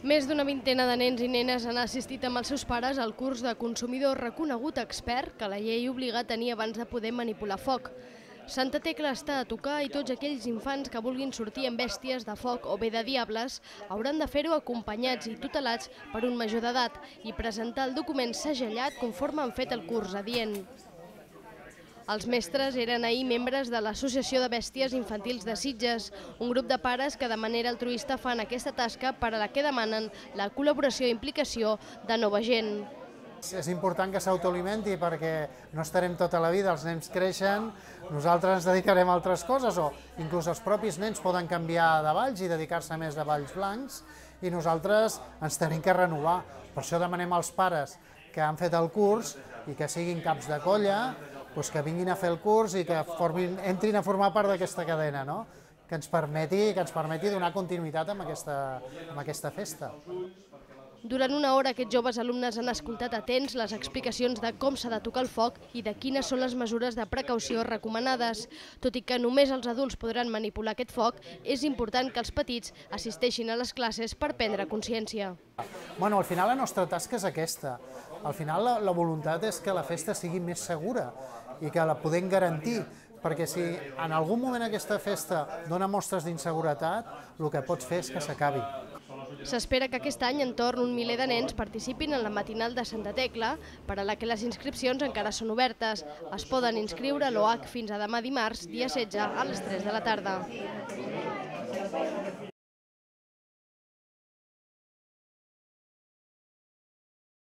Més d'una vintena de nens i nenes han assistit amb els seus pares al curs de consumidor reconegut expert que la llei obliga a tenir abans de poder manipular foc. Santa Tecla està a tocar i tots aquells infants que vulguin sortir amb bèsties de foc o bé de diables hauran de fer-ho acompanyats i tutelats per un major d'edat i presentar el document segellat conforme han fet el curs adient. Els mestres eren ahir membres de l'Associació de Bèsties Infantils de Sitges, un grup de pares que de manera altruista fan aquesta tasca per a la que demanen la col·laboració i implicació de nova gent. És important que s'autoalimenti perquè no estarem tota la vida, els nens creixen, nosaltres ens dedicarem a altres coses o inclús els propis nens poden canviar de balls i dedicar-se més de balls blancs i nosaltres ens tenim que renovar. Per això demanem als pares que han fet el curs i que siguin caps de colla, que vinguin a fer el curs i que entrin a formar part d'aquesta cadena, que ens permeti donar continuïtat amb aquesta festa. Durant una hora aquests joves alumnes han escoltat atents les explicacions de com s'ha de tocar el foc i de quines són les mesures de precaució recomanades. Tot i que només els adults podran manipular aquest foc, és important que els petits assisteixin a les classes per prendre consciència. Al final la nostra tasca és aquesta. Al final la voluntat és que la festa sigui més segura i que la podem garantir, perquè si en algun moment aquesta festa dona mostres d'inseguretat, el que pots fer és que s'acabi. S'espera que aquest any entorn un miler de nens participin en la matinal de Santa Tecla, per a la que les inscripcions encara són obertes. Es poden inscriure a l'OAC fins a demà dimarts, dia 16, a les 3 de la tarda.